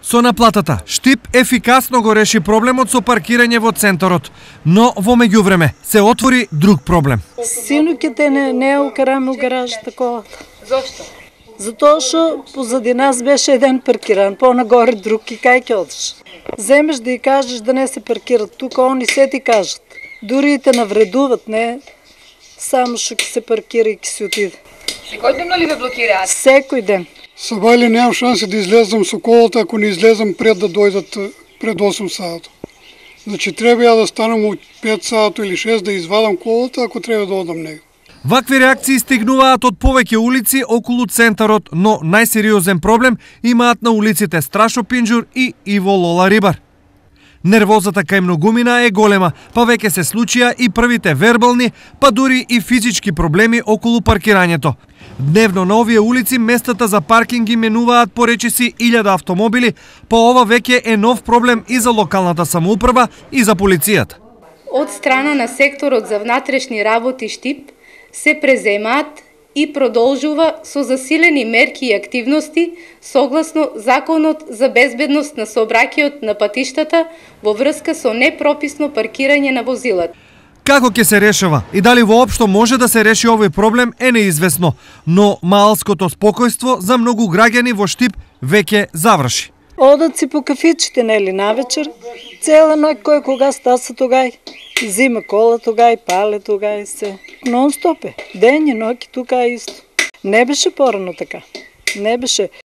Со наплатата, Штип ефикасно го реши проблемот со паркирање во центарот, но во меѓувреме се отвори друг проблем. Синуќите не ја укараме у гаражата колата. Зошто? Затоа што позади нас беше еден паркиран, понагоре друг и кај ќе одиш. Земеш да ја кажеш да не се паркират тука, они се ти кажат. Дури и те навредуват, не само што ќе се паркира и ќе се отиде. Секој ден ли ве блокираат? Секој ден. Сабајле немам шанси да излезам со колата ако не излезам пред да дојдат пред 8 сата. Значи треба ја да станам у 5 сата или 6 да извадам колата ако треба да одам него. Вакви реакции стигнуваат од повеќе улици околу центарот, но најсериозен проблем имаат на улиците Страшо Пинџур и Иво Лола Рибар. Нервозата кај многумина е голема, па веќе се случија и првите вербални, па дури и физички проблеми околу паркирањето. Дневно на овие улици местата за паркинги менуваат по речиси 1000 автомобили, па ова веќе е нов проблем и за локалната самоуправа и за полицијата. Од страна на секторот за внатрешни работи Штип се преземаат и продолжува со засилени мерки и активности согласно Законот за безбедност на сообраќајот на патиштата во врска со непрописно паркирање на возилата. Како ќе се решава и дали воопшто може да се реши овој проблем е неизвестно, но малското спокојство за многу граѓани во Штип веќе заврши. Одат си по кафичите, нели, навечер, цела ноќ кој кога стаса тогај. Зима кола тогај, пале тогај се. Нон-стоп е. Ден и ноќ тука исто. Не беше порано така. Не беше.